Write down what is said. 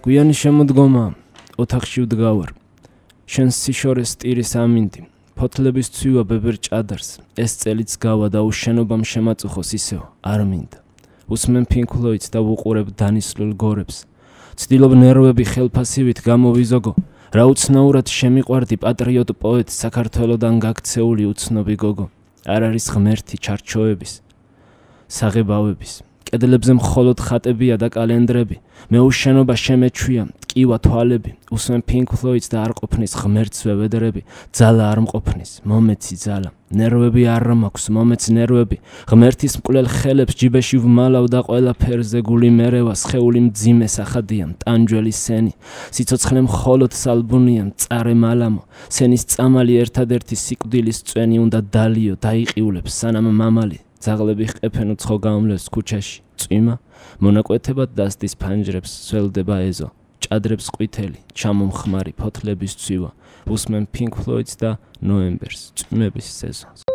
გვიანი შემოდგომა, ოთახში ვდგავარ. შენს სიშორეს ტირის ამინდი, ფოთლების ცვივა ბებერ ჭადარს, ეს წელიც გავა და უშენობამ შემაწუხოს ისევ, არ მინდა. უსმენ Pink Floyd-ს და ვუყურებ დანისლულ გორებს. ცდილობ ნერვები ხელფასივით გამოვიზოგო, რა უცნაურად შემიყვარდი პატრიოტ პოეტ საქართველოდან გაქცეული უცნობი გოგო. არ არის ღმერთი ჩარჩოების, საღებავების. კედლებზე მხოლოდ ხატებია და კალენდრები. მე უშენობა შემეჩვია, ტკივა თვალები. უსმენ Pink Floyd-ს და არ ყოფნის ღმერთსვე ვედრები. ძალა არ მყოფნის, მომეცი ძალა. ნერვები არ მაქვს, მომეც ნერვები. ღმერთის მკვლელ ხელებს ჯიბეში ვმალავ და ყველა ფერზე გული მერევა, სხეული მძიმე სახადია, ტანჯველი სენი. სიცოცხლე მხოლოდ სალბუნია, მწარე მალამო. სენის წამალი ერთადერთი სიკვდილის წვენი უნდა დალიო, დაიყიულებს სანამ მამალი. ძაღლები ხეფენ უცხო გამლევს ქუჩაში, წვიმა, მონაკვეთებად დასდის ფანჯრებს, სველდება ეზო, ჭადრებს ყვითელი, ჩამომხმარი ფოთლების ცვივა, უსმენ Pink Floyd-ს და ნოემბერს, წვიმების სეზონს.